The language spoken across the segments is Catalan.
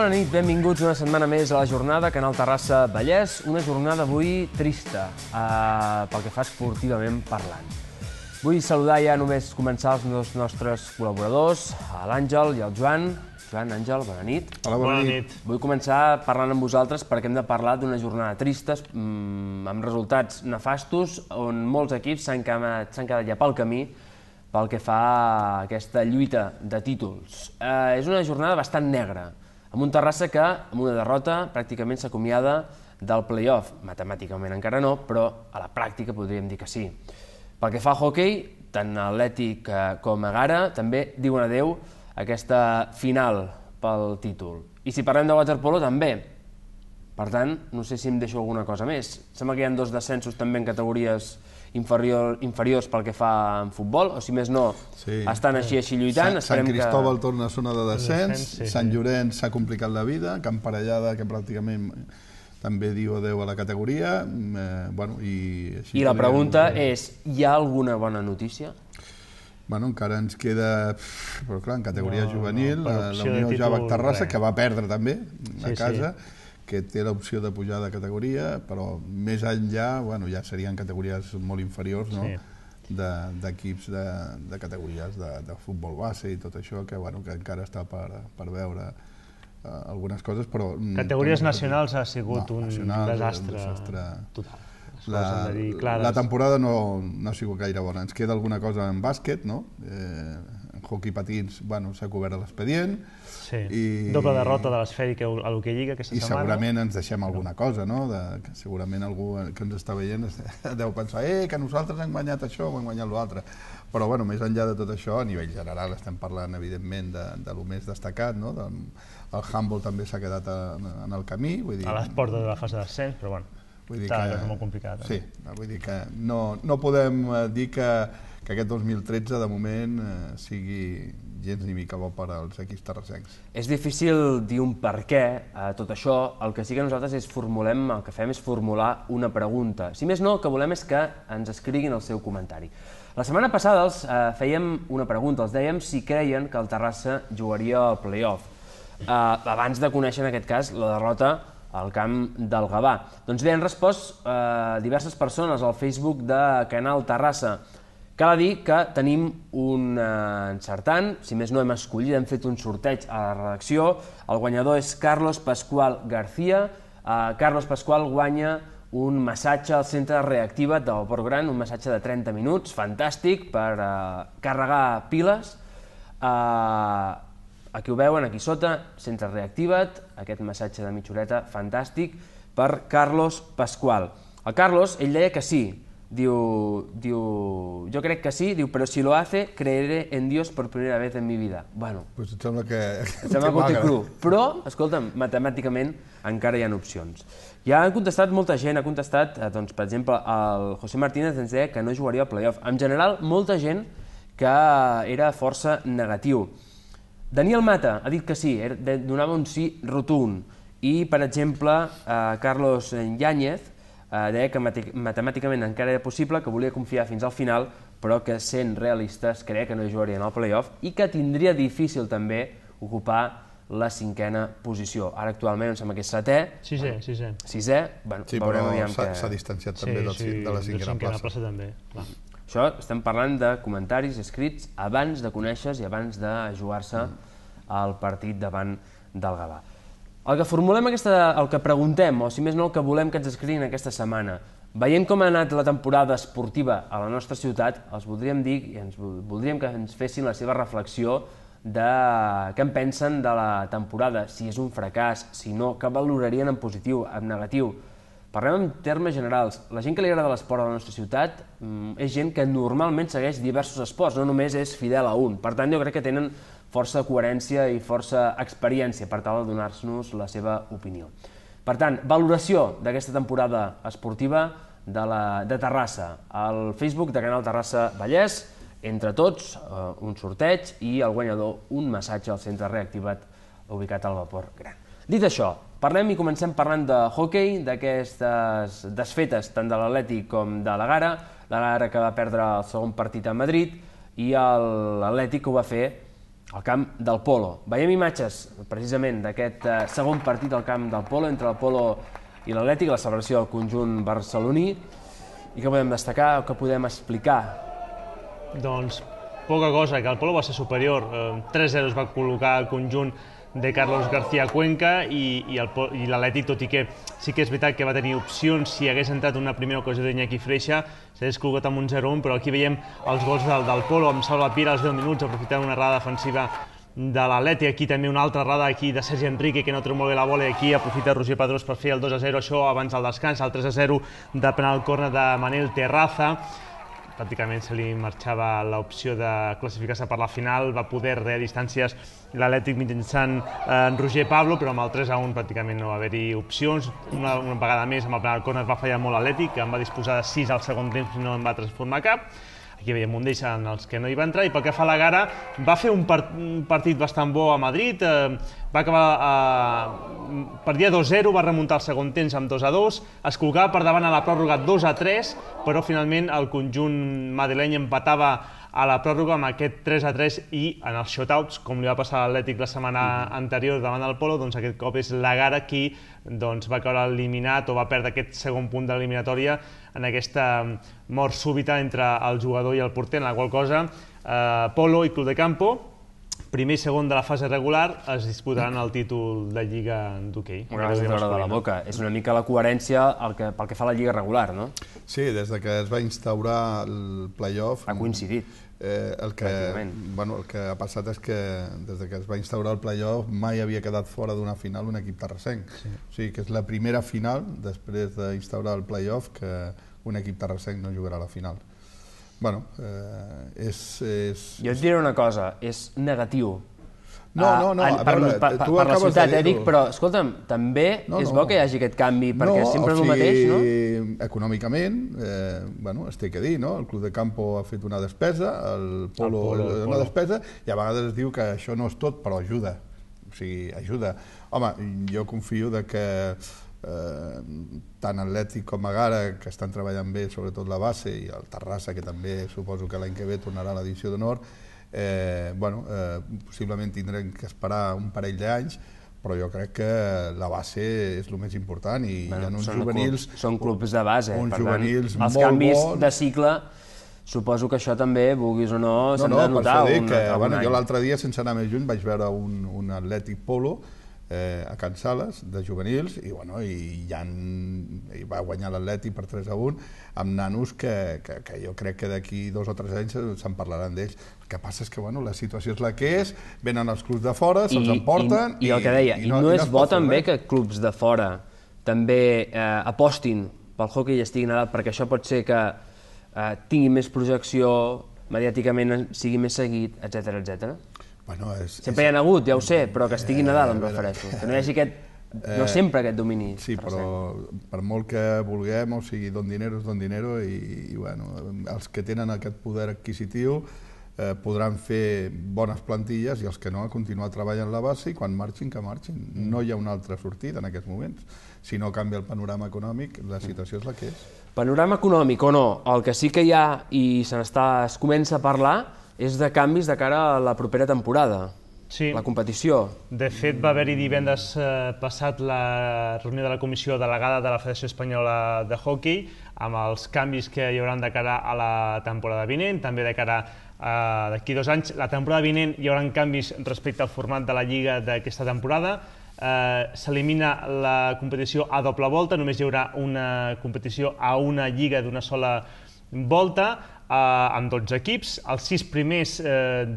Bona nit, benvinguts una setmana més a la jornada Canal Terrassa Vallès. Una jornada avui trista, pel que fa esportivament parlant. Vull saludar ja només començar els nostres col·laboradors, l'Àngel i el Joan. Joan, Àngel, bona nit. Hola, bona nit. Vull començar parlant amb vosaltres perquè hem de parlar d'una jornada trista, amb resultats nefastos, on molts equips s'han quedat ja pel camí pel que fa a aquesta lluita de títols. És una jornada bastant negra, amb un Terrassa que, amb una derrota, pràcticament s'acomiada del play-off. Matemàticament encara no, però a la pràctica podríem dir que sí. Pel que fa al hoquei, tant Atlètic com Egara també diuen adeu a aquesta final pel títol. I si parlem de waterpolo, també. Per tant, no sé si em deixo alguna cosa més. Sembla que hi ha 2 descensos també en categories inferiors pel que fa en futbol, o si més no, estan així lluitant. Sant Cristóbal torna a zona de descens, Sant Llorenç s'ha complicat la vida, Camp Parellada, que pràcticament també diu adeu a la categoria. I la pregunta és, hi ha alguna bona notícia? Bueno, encara ens queda, però clar, en categoria juvenil, la Unió Javac Terrassa, que va perdre també a casa, que té l'opció de pujar de categoria, però més enllà ja serien categories molt inferiors d'equips de categories de futbol base i tot això, que encara està per veure algunes coses, però... Categories nacionals ha sigut un desastre total. La temporada no ha sigut gaire bona. Ens queda alguna cosa en bàsquet, no? En hoquei patins s'ha cobert l'expedient. Doble derrota de l'Esfèric a l'Hoquei Lliga aquesta setmana. I segurament ens deixem alguna cosa, no? Segurament algú que ens està veient deu pensar que nosaltres hem guanyat això o hem guanyat l'altre. Però més enllà de tot això, a nivell general estem parlant evidentment de lo més destacat, no? El handball també s'ha quedat en el camí. A les portes de la fase d'ascens, però bueno, està molt complicat. Sí, vull dir que no podem dir que aquest 2013 de moment sigui gens ni mica bo per als equips terrassencs. És difícil dir un per què a tot això. El que sí que nosaltres el que fem és formular una pregunta. Si més no, el que volem és que ens escriguin el seu comentari. La setmana passada els fèiem una pregunta, els dèiem si creien que el Terrassa jugaria al play-off, abans de conèixer en aquest cas la derrota al camp del Gavà. Doncs bé, han respost diverses persones al Facebook de Canal Terrassa. Cal dir que tenim un encertant, si més no hem escollit, hem fet un sorteig a la redacció. El guanyador és Carlos Pascual García. Carlos Pascual guanya un massatge al centre Reactiva't del Port Gran, un massatge de 30 minuts, fantàstic, per carregar piles. Aquí ho veuen, aquí sota, centre Reactiva't, aquest massatge de mitja horeta, fantàstic, per Carlos Pascual. El Carlos, ell deia que sí. Diu, jo crec que sí, però si lo hace, creeré en Dios por primera vez en mi vida. Bueno, pues em sembla que ho té cru, però, escolta'm, matemàticament encara hi ha opcions. Ja han contestat molta gent, ha contestat, per exemple, el José Martínez ens deia que no jugaria al play-off. En general, molta gent que era força negatiu. Daniel Mata ha dit que sí, donava un sí rotund. I, per exemple, Carlos Yáñez deia que matemàticament encara era possible, que volia confiar fins al final, però que sent realistes creia que no jugarien al play-off i que tindria difícil també ocupar la 5a posició. Ara actualment em sembla que és 7è. Sisè. Sí, però s'ha distanciat també de la 5a plaça. Això estem parlant de comentaris escrits abans de conèixer i abans de jugar-se el partit davant del Gavà. El que formulem, el que preguntem, o si més no el que volem que ens escriguin aquesta setmana, veient com ha anat la temporada esportiva a la nostra ciutat, els voldríem dir i voldríem que ens fessin la seva reflexió de què en pensen de la temporada, si és un fracàs, si no, què valorarien en positiu, en negatiu. Parlem en termes generals. La gent que li agrada l'esport a la nostra ciutat és gent que normalment segueix diversos esports, no només és fidel a un. Per tant, jo crec que tenen força coherència i força experiència per tal de donar-nos la seva opinió. Per tant, valoració d'aquesta temporada esportiva de Terrassa. Al Facebook de Canal Terrassa Vallès, entre tots, un sorteig i el guanyador, un massatge al centre Reactiva't ubicat al Port Gran. Dit això, parlem i comencem parlant de hoquei, d'aquestes desfetes tant de l'Atlètic com de l'Egara. L'Egara que va perdre el segon partit a Madrid i l'Atlètic que ho va fer al camp del Polo. Veiem imatges, precisament, d'aquest segon partit al camp del Polo, entre el Polo i l'Atlètic, la celebració del conjunt barceloní. I què podem destacar o què podem explicar? Doncs poca cosa, que el Polo va ser superior. 3-0 es va col·locar el conjunt de Carlos García Cuenca i l'Atlètic, tot i que sí que és veritat que va tenir opcions si hagués entrat una primera ocasió d'Iñaki Freixa, s'hagués col·locat amb un 0-1, però aquí veiem els gols del Polo, amb Salva Pira als 10 minuts, aprofitant una errada defensiva de l'Atlètic, aquí també una altra errada aquí de Sergi Enrique, que no treu molt bé la bola, i aquí aprofita Roger Pedrós per fer el 2-0, això abans del descans, el 3-0 de penal córner de Manel Terraza. Pràcticament se li marxava l'opció de classificar-se per la final, va poder rear distàncies l'Atlètic mitjançant Roger Pablo, però amb el 3-1 pràcticament no va haver-hi opcions. Una vegada més amb el penal córner va fallar molt l'Atlètic, que en va disposar de 6 al segon temps i no en va transformar cap. Aquí veiem un d'ells en els que no hi va entrar, i pel que fa a la Gara, va fer un partit bastant bo a Madrid, va acabar, perdia 2-0, va remuntar el segon temps amb 2-2, es col·locava per davant a la pròrroga 2-3, però finalment el conjunt madrileny empatava a la pròrroga amb aquest 3-3, i en els shotouts, com li va passar a l'Atlètic la setmana anterior davant del Polo, doncs aquest cop és la Gara qui va caure eliminat o va perdre aquest segon punt de l'eliminatòria en aquesta mort súbita entre el jugador i el porter, en la qual cosa Polo i Club de Campo, primer i segon de la fase regular, es disputaran el títol de Lliga d'hoquei. Una cosa de la boca. És una mica la coherència pel que fa a la Lliga regular, no? Sí, des que es va instaurar el play-off... Ha coincidit. El que ha passat és que des que es va instaurar el play-off mai havia quedat fora d'una final un equip terrassenc. O sigui que és la primera final després d'instaurar el play-off que un equip terrassenc no jugarà a la final. Bueno, Jo et diré una cosa, és negatiu. No, per la ciutat, dic, però escolta'm, també és bo que hi hagi aquest canvi, perquè sempre és el mateix, no? Econòmicament, es té que dir, no? El Club de Campo ha fet una despesa, el Polo una despesa, i a vegades es diu que això no és tot, però ajuda. O sigui, ajuda. Home, jo confio que tant Atlètic com Gara, que estan treballant bé, sobretot la base, i el Terrassa, que també suposo que l'any que ve tornarà a l'edició d'honor, possiblement tindrem que esperar un parell d'anys, però jo crec que la base és el més important, i hi ha uns juvenils... Són clubs de base, per tant, els canvis de cicle, suposo que això també, vulguis o no, s'han de notar algun any. Jo l'altre dia, sense anar més lluny, vaig veure un Atlètic Polo a Can Sales, de juvenils, i va guanyar l'Atlètic per 3-1 amb nanos que jo crec que d'aquí 2 o 3 anys se'n parlaran d'ells. El que passa és que la situació és la que és, venen els clubs de fora, se'ls emporten... I el que deia, i no és bo també que clubs de fora també apostin pel hoquei i estiguin a dalt, perquè això pot ser que tingui més projecció, mediàticament sigui més seguit, etc. Sempre hi ha hagut, ja ho sé, però que estiguin a dalt, em refereixo. Que no hi hagi no sempre aquest domini. Sí, però per molt que vulguem, o sigui, don dinero és don dinero, i els que tenen aquest poder adquisitiu podran fer bones plantilles, i els que no, a continuar treballant la base, i quan marxin, que marxin. No hi ha una altra sortida en aquests moments. Si no canvia el panorama econòmic, la situació és la que és. Panorama econòmic o no, el que sí que hi ha i es comença a parlar és de canvis de cara a la propera temporada, la competició. De fet, va haver-hi divendres passat la reunió de la Comissió Delegada de la Federació Espanyola de Hockey amb els canvis que hi haurà de cara a la temporada vinent, també de cara d'aquí 2 anys. La temporada vinent hi haurà canvis respecte al format de la Lliga d'aquesta temporada. S'elimina la competició a doble volta, només hi haurà una competició a una lliga d'una sola volta, amb 12 equips. Els 6 primers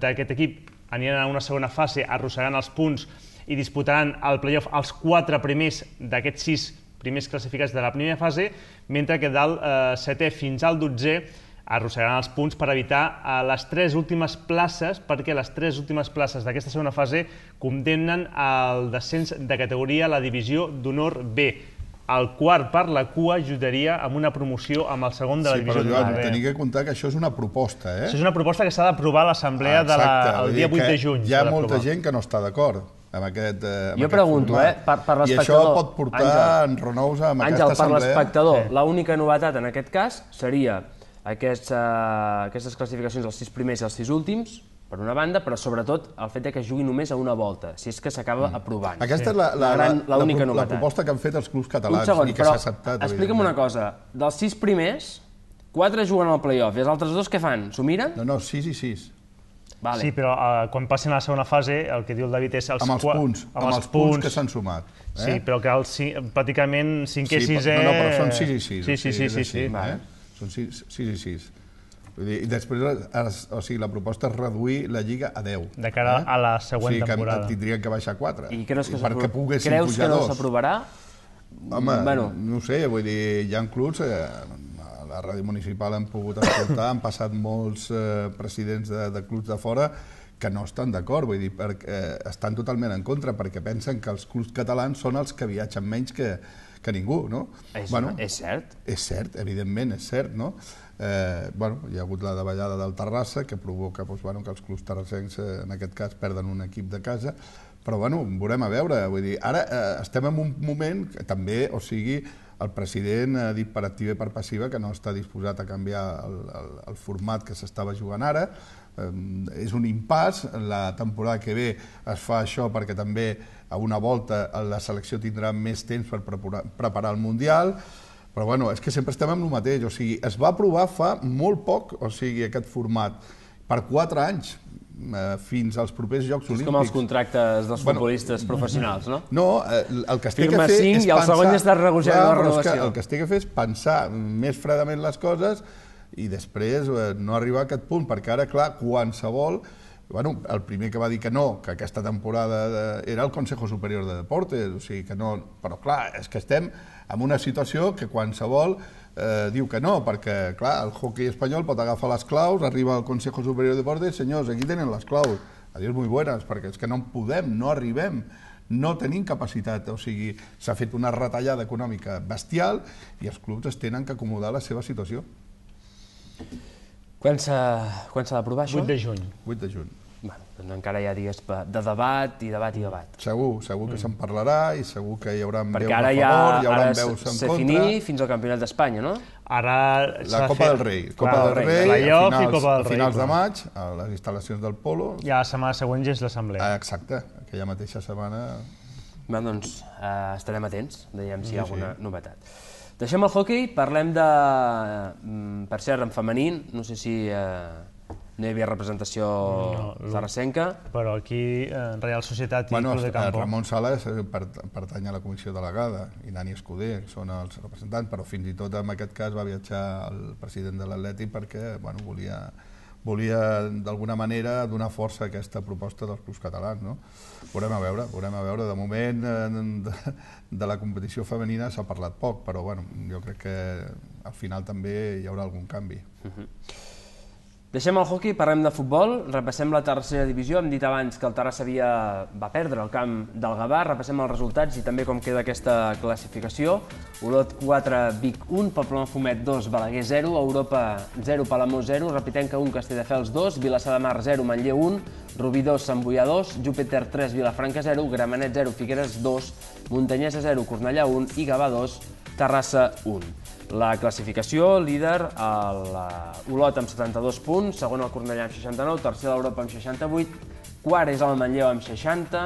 d'aquest equip aniran a una segona fase, arrossegaran els punts i disputaran el play-off els 4 primers d'aquests 6 primers classificats de la primera fase, mentre que del 7è fins al 12è arrossegaran els punts per evitar les 3 últimes places, perquè les 3 últimes places d'aquesta segona fase condemnen al descens de categoria a la divisió d'honor B. El quart per la cua ajudaria amb una promoció amb el segon de la divisió d'honor B. Sí, però Joan, tenia que comptar que això és una proposta, Això és una proposta que s'ha d'aprovar a l'assemblea el dia 8 de juny. Hi ha molta gent que no està d'acord amb aquest format. Jo pregunto, per l'espectador... I això pot portar enronous amb aquesta assemblea. Àngel, per l'espectador, l'única novetat en aquest cas seria aquestes classificacions dels 6 primers i els 6 últims per una banda, però sobretot el fet que jugui només a una volta, si és que s'acaba aprovant. Aquesta és la proposta que han fet els clubs catalans i que s'ha acceptat. Explica'm una cosa, dels 6 primers, 4 juguen al play-off i els altres 2 què fan? S'ho miren? No, 6 i 6. Sí, però quan passin a la segona fase, el que diu el David és... Amb els punts que s'han sumat. Sí, però que pràcticament 5 i 6... No, però són 6 i 6. Sí. Són 6 i 6. I després, la proposta és reduir la Lliga a 10. De cara a la següent temporada. O sigui, que tindrien que baixar 4. I creus que no s'aprovarà? Home, no ho sé, vull dir, hi ha clubs... A la ràdio municipal hem pogut escoltar, han passat molts presidents de clubs de fora que no estan d'acord, vull dir, estan totalment en contra, perquè pensen que els clubs catalans són els que viatgen menys que ningú, no? És cert? És cert, evidentment, és cert, no? Hi ha hagut la davallada del Terrassa, que provoca que els clubs terrassencs, en aquest cas, perden un equip de casa, però veurem a veure, vull dir, ara estem en un moment que també, o sigui, el president ha dit per activa i per passiva que no està disposat a canviar el format que s'estava jugant ara. És un impàs, la temporada que ve es fa això perquè també a una volta la selecció tindrà més temps per preparar el Mundial, però bueno, és que sempre estem amb el mateix, o sigui, es va aprovar fa molt poc, o sigui, aquest format, per 4 anys, fins als propers Jocs Olímpics. És com els contractes dels futbolistes professionals, no? No, el que es té que fer és pensar... Firma 5 i el segon ja està negociant la renovació. El que es té que fer és pensar més fredament les coses i després no arribar a aquest punt, perquè ara, clar, qualsevol... El primer que va dir que no, que aquesta temporada era el Consejo Superior de Deportes, o sigui que no... Però, clar, és que estem en una situació que qualsevol diu que no, perquè, clar, el hoquei espanyol pot agafar les claus, arriba al Consejo Superior de Deportes, senyors, aquí tenen les claus, adiós muy buenas, perquè és que no podem, no arribem, no tenim capacitat, o sigui, s'ha fet una retallada econòmica bestial i els clubs es tenen que acomodar a la seva situació. Quan s'ha d'aprovar això? 8 de juny. 8 de juny. Doncs encara hi ha dies de debat i debat i debat. Segur que se'n parlarà i segur que hi haurà veus a favor, hi haurà veus en contra. Se finí fins al Campionat d'Espanya, no? Ara la Copa del Rei. Copa del Rei, a finals de maig, a les instal·lacions del Polo. I a la setmana següent ja és l'assemblea. Exacte, aquella mateixa setmana. Doncs estarem atents, veiem si hi ha alguna novetat. Deixem el hoquei, parlem de... Per cert, en femení, no sé si... No hi havia representació terrassenca. Però aquí, Real Societat i Club de Campo. Ramon Sales pertany a la comissió delegada i Dani Escudé, que són els representants, però fins i tot en aquest cas va viatjar el president de l'Atlètic perquè volia d'alguna manera donar força a aquesta proposta dels clubs catalans. Veurem a veure. De moment de la competició femenina s'ha parlat poc, però jo crec que al final també hi haurà algun canvi. Deixem el hoquei, parlem de futbol, repassem la tercera divisió. Hem dit abans que el Terrassa va perdre el camp del Gavà, repassem els resultats i també com queda aquesta classificació. Olot 4, Vic 1, Poblenou-Fumet 2, Balaguer 0, Europa 0, Palamós 0, Repitenca 1, Castelldefels 2, Vilassar de Mar 0, Manlleu 1, Rubí 2, Sant Boià 2, Júpiter 3, Vilafranca 0, Gramenet 0, Figueres 2, Montanyesa 0, Cornellà 1 i Gavà 2, Terrassa 1. La classificació, líder, l'Olot amb 72 punts, segon el Cornellà amb 69, tercer l'Europa amb 68, quart és el Manlleu amb 60,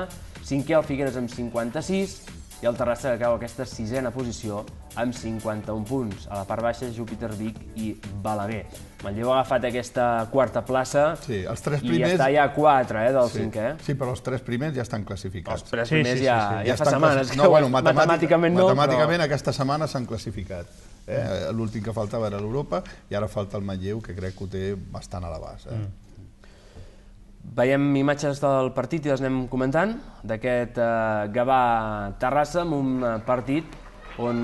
cinquè el Figueres amb 56 i el Terrassa que cau aquesta sisena posició amb 51 punts. A la part baixa, Júpiter, Vic i Balaguer. Manlleu ha agafat aquesta quarta plaça i està ja a 4 del cinquè. Sí, però els 3 primers ja estan classificats. Els 3 primers ja fa setmanes. Matemàticament aquesta setmana s'han classificat. L'últim que faltava era l'Europa i ara falta el Manlleu, que crec que ho té bastant a l'abast. Veiem imatges del partit i les anem comentant, d'aquest Gavà-Terrassa, amb un partit on,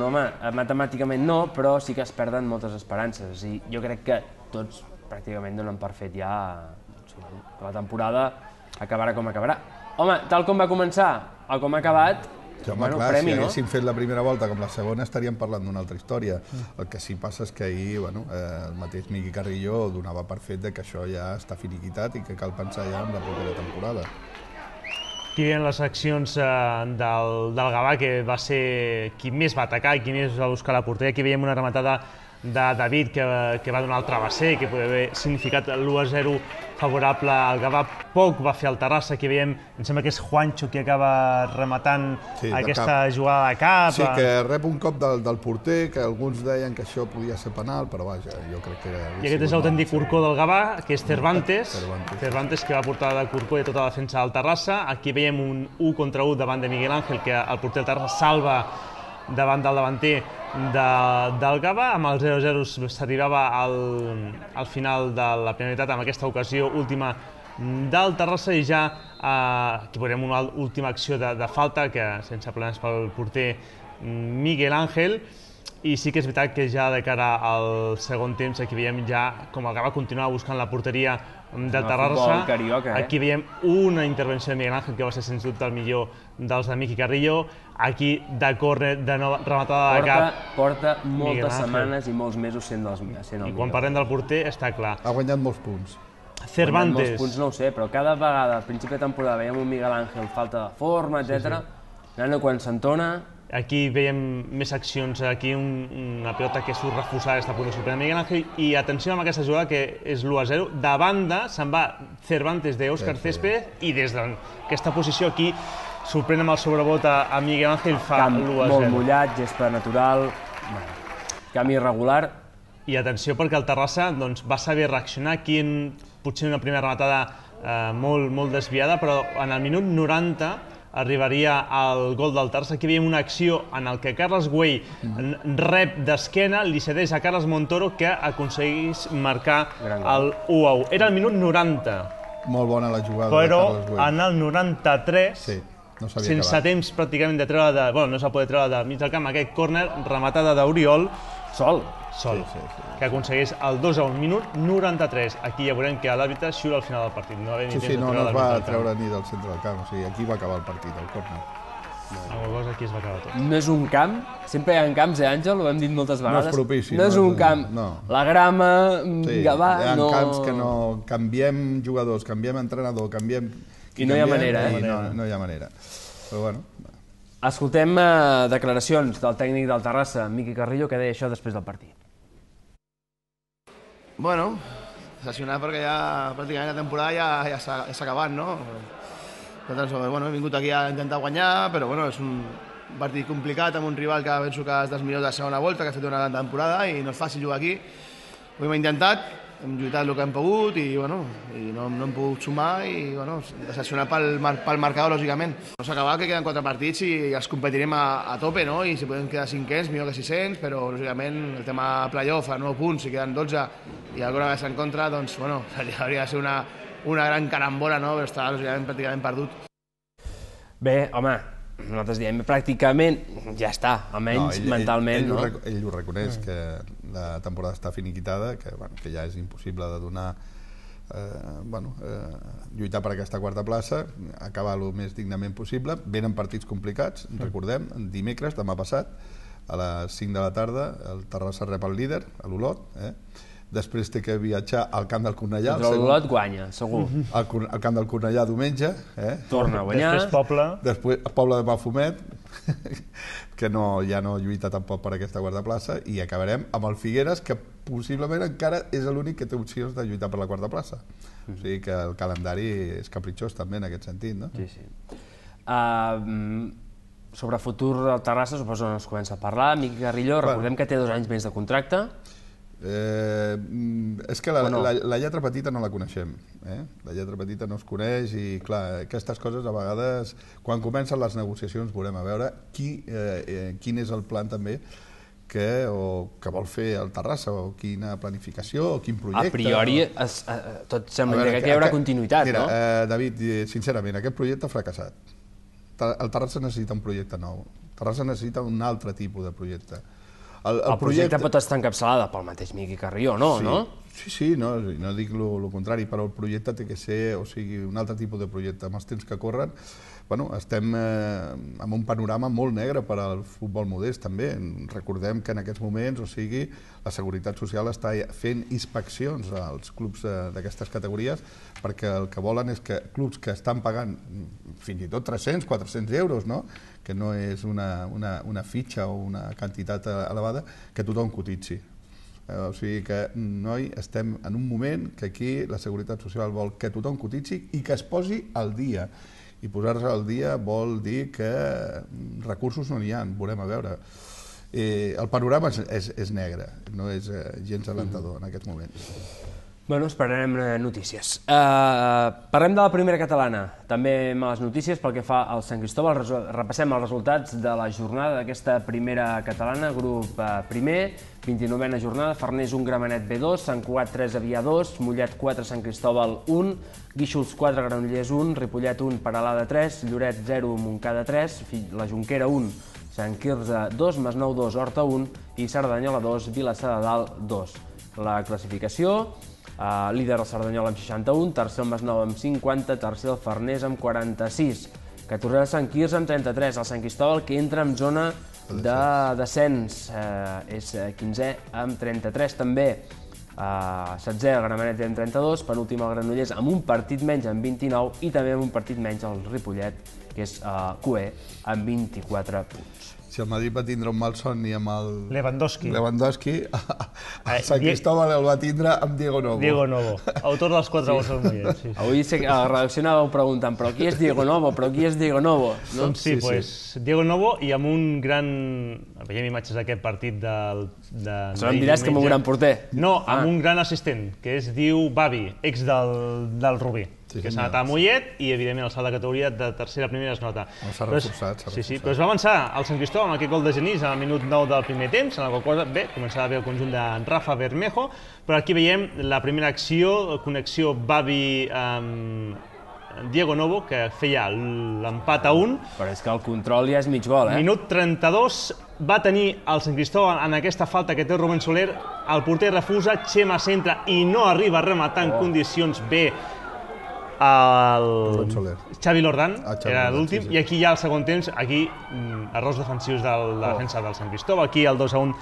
matemàticament no, però sí que es perden moltes esperances. I jo crec que tots pràcticament donen per fet ja que la temporada acabarà com acabarà. Home, tal com va començar o com ha acabat, premi, no? Si haguéssim fet la primera volta com la segona estaríem parlant d'una altra història. El que sí passa és que ahir el mateix Miqui Carrillo donava per fet que això ja està finiquitat i que cal pensar ja en la propera temporada. Aquí veiem les accions del Gavà, que va ser qui més va atacar i qui més va buscar la porteria. Aquí veiem una rematada de David que va donar el travesser, que podia haver significat l'1-0 favorable al Gavà. Poc va fer el Terrassa, aquí veiem, em sembla que és Juancho qui acaba rematant aquesta jugada de cap. Sí, que rep un cop del porter, que alguns deien que això podia ser penal, però vaja, jo crec que era... I aquest és l'autèntic corcó del Gavà, que és Cervantes. Cervantes que va portar de corcó i tota la defensa del Terrassa. Aquí veiem un 1 contra 1 davant de Miguel Ángel, que el porter del Terrassa salva davant del davanter del Gavà. Amb el 0-0 s'arribava al final de la primera meitat, amb aquesta ocasió última del Terrassa, i ja aquí veurem una última acció de falta, que sense problemes pel porter Miguel Ángel. I sí que és veritat que ja de cara al segon temps aquí veiem ja com el Gavà continua buscant la porteria del Terrassa. Aquí veiem una intervenció de Miguel Ángel que va ser sens dubte el millor dels de Miqui Carrillo. Aquí de córner, de nova rematada de cap. Porta moltes setmanes i molts mesos sent el millor. I quan parlem del porter està clar. Ha guanyat molts punts. Cervantes. Molts punts no ho sé, però cada vegada al principi de temporada veiem un Miguel Ángel falta de forma, etc. Quan s'entona... Aquí veiem més accions, aquí una pilota que surt refusada, està a punt de superar Miguel Ángel, i atenció amb aquesta jugada que és l'1-0, de banda se'n va Cervantes d'Òscar Césped, i des d'aquesta posició aquí sorprèn amb el sobrebot a Miguel Ángel, fa l'1-0. Molt mullat, gespa natural, camp irregular. I atenció perquè el Terrassa va saber reaccionar aquí en potser una primera rematada molt desviada, però en el minut 90 arribaria al gol del Terrassa. Aquí veiem una acció en què Carles Güell rep d'esquena, li cedeix a Carles Montoro, que aconsegueix marcar el 1-1. Era el minut 90. Molt bona la jugada de Carles Güell. Però en el 93, sense temps pràcticament de treure no s'ha poder treure del mig del camp, aquest córner, rematada d'Oriol, sol, que aconsegueix el 2-1, minut 93. Aquí ja veurem que l'àrbitre xiula al final del partit. No es va treure ni del centre del camp, o sigui, aquí va acabar el partit, el córner. Aquí es va acabar tot. No és un camp, sempre hi ha camps, Àngel, ho hem dit moltes vegades. No és propici. No és un camp, la grama, Gavà... Hi ha camps que no canviem jugadors, canviem entrenador, canviem... I no hi ha manera, No hi ha manera. Però bueno... Escoltem declaracions del tècnic del Terrassa, Miqui Carrillo, que deia això després del partit. Bueno, decepcionat perquè ja pràcticament la temporada ja s'ha acabat, no? Nosaltres hem vingut aquí a intentar guanyar, però és un partit complicat amb un rival que penso que és dels millors de la segona volta, que ha fet una gran temporada i no és fàcil jugar aquí. Ho hem intentat, hem lluitat el que hem pogut i no hem pogut sumar i decepcionat pel marcador, lògicament. No s'ha acabat, que queden 4 partits i els competirem a tope, no? I si podem quedar 500, millor que 600, però lògicament el tema playoff a 9 punts, si queden 12 i alguna vegada en contra, doncs hauria de ser una gran carambola, no? Però està lògicament pràcticament perdut. Bé, home, nosaltres diem pràcticament ja està, almenys mentalment. Ell ho reconeix, que la temporada està finiquitada, que ja és impossible de donar, lluitar per aquesta quarta plaça, acabar el més dignament possible. Venen partits complicats, recordem, dimecres, demà passat, a les 5 de la tarda, el Terrassa rep el líder, l'Olot, després té que viatjar al camp del Cornellà. L'Olot guanya, segur. Al camp del Cornellà diumenge. Torna a guanyar. Després Poble de Mafumet, que ja no lluita tampoc per aquesta quarta plaça, i acabarem amb el Figueres, que possiblement encara és l'únic que té opcions de lluitar per la quarta plaça. O sigui que el calendari és capritxós també en aquest sentit, no? Sí. Sobre el futur del Terrassa, suposo que no es comença a parlar. Miqui Carrillo, recordem que té 2 anys més de contracte. És que la lletra petita no la coneixem, la lletra petita no es coneix i clar, aquestes coses a vegades quan comencen les negociacions veurem a veure quin és el plan també que vol fer el Terrassa, o quina planificació o quin projecte. A priori tot sembla que hi haurà continuïtat, no? David, sincerament, aquest projecte ha fracassat. El Terrassa necessita un projecte nou, el Terrassa necessita un altre tipus de projecte. El projecte pot estar encapçalada pel mateix Miqui Carrillo, no? Sí, no dic el contrari, però el projecte té que ser un altre tipus de projecte. Amb els temps que corren, estem en un panorama molt negre per al futbol modest, també. Recordem que en aquests moments, la Seguretat Social està fent inspeccions als clubs d'aquestes categories, perquè el que volen és que clubs que estan pagant fins i tot 300, 400 euros, no?, que no és una fitxa o una quantitat elevada, que tothom cotitzi. O sigui que, noi, estem en un moment que aquí la Seguretat Social vol que tothom cotitzi i que es posi al dia. I posar-se al dia vol dir que recursos no n'hi ha, veurem a veure. El panorama és negre, no és gens alentador en aquests moments. Bueno, esperarem notícies. Parlem de la primera catalana. També males notícies pel que fa al Sant Cristóbal. Repassem els resultats de la jornada d'aquesta primera catalana. Grup primer, 29a jornada, Farners 1, Gramenet B2, Sant Cugat 3, Avià 2, Mollet 4, Sant Cristóbal 1, Guíxols 4, Granollers 1, Ripollet 1, Peralada 3, Lloret 0, Montcada 3, la Jonquera 1, Sant Quirze 2, Masnou 2, Horta 1 i Cerdanyola 2, Vilassar de Dalt 2. La classificació: líder el Cerdanyola amb 61, tercer el Masnou amb 50, tercer el Farners amb 46, 14è el Sant Quirze amb 33, el Sant Cristóbal, que entra en zona de descens, és 15è amb 33 també, 16è el Gramenet amb 32, penúltim el Granollers amb un partit menys amb 29 i també amb un partit menys el Ripollet, que és cuer, amb 24 punts. Si el Madrid va tindre un mal somni amb el Lewandowski, el Sant Cristóbal el va tindre amb Diego Novo. Diego Novo, autor dels 4 gols del Mollet. Avui a la redacció anàveu preguntant, però qui és Diego Novo? Però qui és Diego Novo? Doncs sí, Diego Novo, i amb un gran... Veiem imatges d'aquest partit del... Això em diràs que amb un gran porter. No, amb un gran assistent, que es diu Bavi, ex del Rubí, que s'ha anat a Mollet i, evidentment, el salt de categoria de tercera a primera es nota. S'ha reforçat. Sí, però es va avançar el Sant Cristóbal amb aquest gol de Genís al minut 9 del primer temps, en la qual cosa, bé, començava bé el conjunt de Rafa Bermejo, però aquí veiem la primera acció, connexió Bavi amb Diego Novo, que feia l'empat a 1. Però és que el control ja és mig gol, Minut 32, va tenir el Sant Cristóbal en aquesta falta que té Rubén Soler, el porter refusa, Chema centra i no arriba a rematar en condicions bé el Xavi Lordán, era l'últim, i aquí ja al segon temps, aquí errors defensius de la defensa del Sant Cristóbal, aquí el 2-1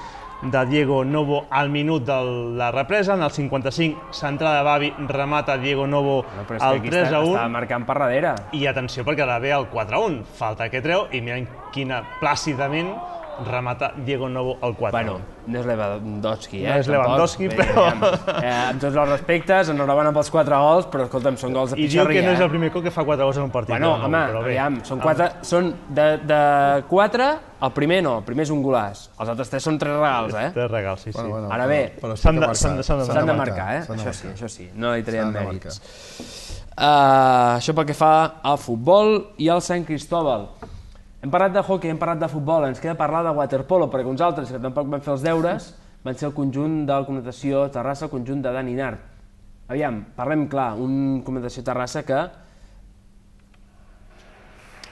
de Diego Novo al minut de la represa, en el 55 centrada de Bavi, remata Diego Novo al 3-1. Està marcant per darrere. I atenció perquè ara ve el 4-1, falta que treu i miren quina plàcidament remata Diego Novo al 4-1. Bueno, no és Lewandowski, No és Lewandowski, però... Amb tots els respectes, enhorabona pels 4 gols, però escolta'm, són gols de pixarria. I diu que no és el primer cop que fa 4 gols en un partit. Bueno, home, aviam, són de 4, el primer no, el primer és un golàs. Els altres 3 són 3 regals, 3 regals, sí. Ara bé, s'han de marcar, això sí, no li traiem mèrits. Això pel que fa al futbol i al Sant Cristóbal. Hem parlat de hockey, hem parlat de futbol, ens queda parlar de waterpolo, perquè uns altres que tampoc van fer els deures van ser el conjunt de la Connotació Terrassa, el conjunt de Dani Nart. Aviam, parlem clar, un Connotació Terrassa que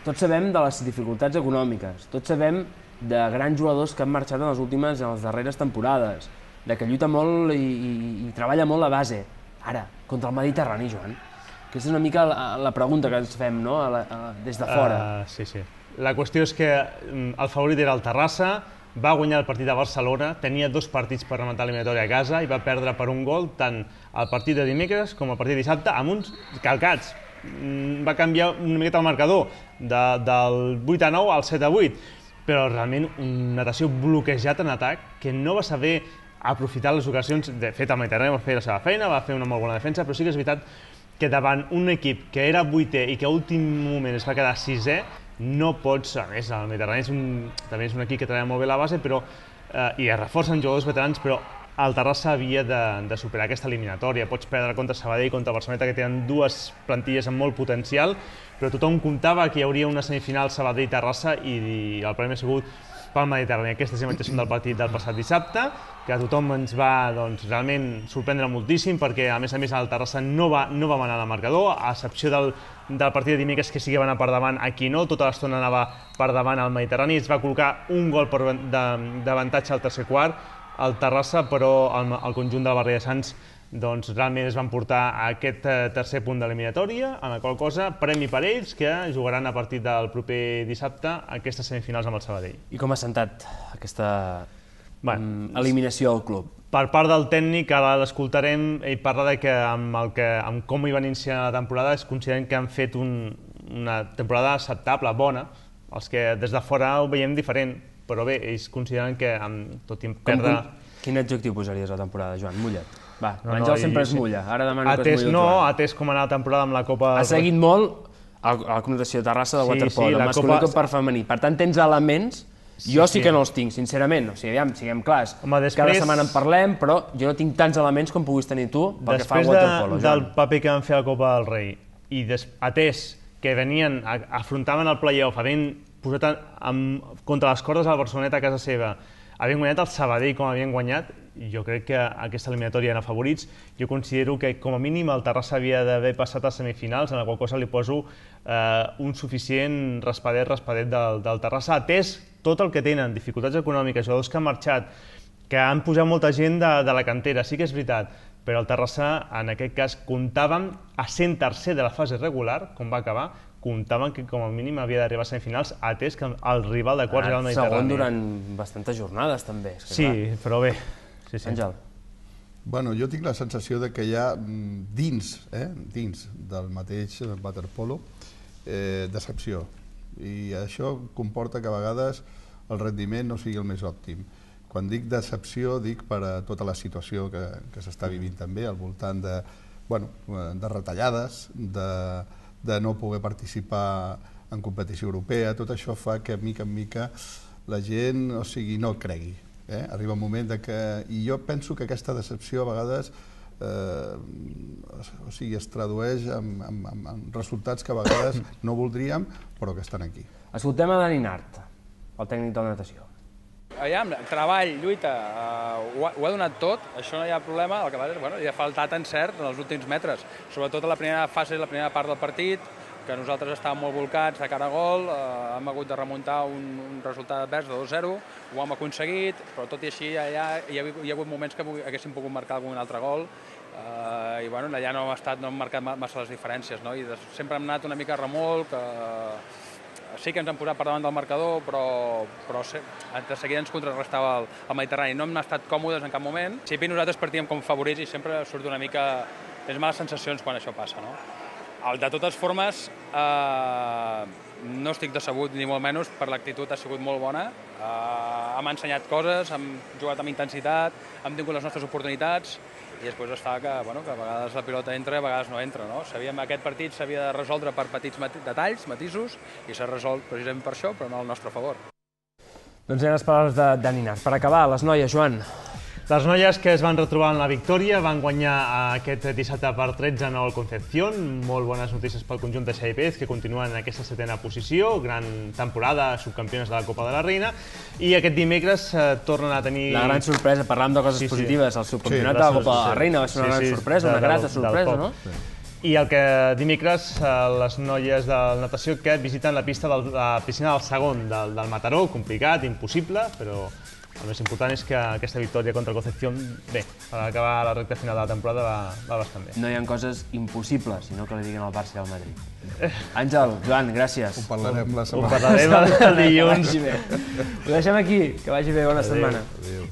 tots sabem de les dificultats econòmiques, tots sabem de grans jugadors que han marxat en les darreres temporades, de que lluita molt i treballa molt la base. Ara, contra el Mediterrani, Joan, aquesta és una mica la pregunta que ens fem, no?, des de fora. Sí. La qüestió és que el favorit era el Terrassa, va guanyar el partit a Barcelona, tenia 2 partits per rematar l'eliminatòria a casa i va perdre per un gol tant el partit de dimecres com el partit de dissabte amb uns calcats. Va canviar una miqueta el marcador del 8-9 al 7-8, però realment una natació bloquejat en atac que no va saber aprofitar les ocasions. De fet, el Mediterrani va fer la seva feina, va fer una molt bona defensa, però sí que és veritat que davant un equip que era 8è i que a últim moment es va quedar 6è, no pots, a més, el Mediterrani també és un equip que treballa molt bé la base i es reforcen jugadors veterans, però el Terrassa havia de superar aquesta eliminatòria. Pots perdre contra Sabadell i contra Barcelona, que tenen 2 plantilles amb molt potencial, però tothom comptava que hi hauria una semifinal Sabadell-Terrassa i el premi ha sigut pel Mediterrani. Aquestes imatges són del partit del passat dissabte, que a tothom ens va realment sorprendre moltíssim, perquè a més el Terrassa no va manar el marcador, a excepció del partit de dimecres, que sí que va anar per davant, aquí no, tota l'estona anava per davant al Mediterrani, es va col·locar un gol d'avantatge al tercer quart, el Terrassa, però el conjunt del Barri de Sants realment es van portar a aquest tercer punt d'eliminatòria, en la qual cosa premi per ells, que jugaran a partir del proper dissabte aquestes semifinals amb el Sabadell. I com ha sentat aquesta eliminació al club? Per part del tècnic, ara l'escoltarem, ell parla de que amb com hi van iniciar la temporada es consideren que han fet una temporada acceptable, bona, els que des de fora ho veiem diferent, però bé, ells consideren que tot i perdre... Quin adjectiu posaries a la temporada, Joan? Mulla't. Va, l'Àngel sempre es mulla, ara demano que es mulli el No, Joan. atès com anar la temporada amb la Copa... Ha seguit molt a la connotació de Terrassa del waterpolo, del masculí com per femení. Per tant, tens elements, jo sí que no els tinc, sincerament. O sigui, aviam, siguem clars. Cada setmana en parlem, però jo no tinc tants elements com puguis tenir tu pel que fa al waterpolo. Després del paper que van fer a la Copa del Rei i atès que afrontaven el play-off, havent posat contra les cordes al Barcelonet a casa seva, havent guanyat el Sabadell com havien guanyat, jo crec que aquesta eliminatòria eren favorits. Jo considero que com a mínim el Terrassa havia d'haver passat a semifinals, en la qual cosa li poso un suficient raspadet del Terrassa, atès tot el que tenen, dificultats econòmiques, jugadors que han marxat, que han posat molta gent de la cantera, sí que és veritat, però el Terrassa en aquest cas comptàvem a sent tercer de la fase regular, com va acabar, comptaven que com a mínim havia d'arribar a semifinals, atès que el rival de quarts era el Mediterrani. Segon durant bastantes jornades, també. Sí, però bé. Àngel. Bueno, jo tinc la sensació que hi ha dins del mateix waterpolo decepció. I això comporta que a vegades el rendiment no sigui el més òptim. Quan dic decepció, dic per a tota la situació que s'està vivint també, al voltant de retallades, de no poder participar en competició europea. Tot això fa que, mica en mica, la gent no cregui. Arriba un moment que... I jo penso que aquesta decepció a vegades es tradueix en resultats que a vegades no voldríem, però que estan aquí. Escoltem a Dani Nart, el tècnic de la natació. Aviam, treball, lluita, ho ha donat tot, això no hi ha problema, el que passa és, hi ha faltat encert en els últims metres, sobretot a la primera fase, la primera part del partit, que nosaltres estàvem molt volcats de cara a gol, hem hagut de remuntar un resultat advers de 2-0, ho hem aconseguit, però tot i així allà hi ha hagut moments que haguéssim pogut marcar algun altre gol, i allà no hem marcat massa les diferències, i sempre hem anat una mica a remolc, sí que ens han posat per davant del marcador, però de seguida ens contrarrestava el Mediterrani. No hem estat còmodes en cap moment. Sí, nosaltres partíem com favorits i sempre surt una mica més males sensacions quan això passa. De totes formes, no estic decebut ni molt menys, per l'actitud ha sigut molt bona. Hem ensenyat coses, hem jugat amb intensitat, hem tingut les nostres oportunitats i després està que a vegades la pilota entra i a vegades no entra. Sabíem que aquest partit s'havia de resoldre per petits detalls, matisos, i s'ha resolt precisament per això, però no al nostre favor. Doncs eren les paraules de Dani Nart. Per acabar, les noies, Joan. Les noies que es van retrobar en la victòria van guanyar aquest dissabte per 13 al Concepción. Molt bones notícies pel conjunt de Xavi Pérez, que continuen en aquesta setena posició. Gran temporada, subcampiones de la Copa de la Reina. I aquest dimecres tornen a tenir... La gran sorpresa, parlant de coses positives, el subcampionat de la Copa de la Reina va ser una gran sorpresa, una grata sorpresa, no? I el que dimecres les noies de natació que visiten la pista de la piscina del segon del Mataró, complicat, impossible, però el més important és que aquesta victòria contra el Concepción, bé, per acabar la recta final de la temporada va bastant bé. No hi ha coses impossibles, sinó que li diguin al Barça i al Madrid. Àngel, Joan, gràcies. Ho parlarem la setmana. Ho parlarem el dilluns. Ho deixem aquí, que vagi bé, bona setmana. Adéu.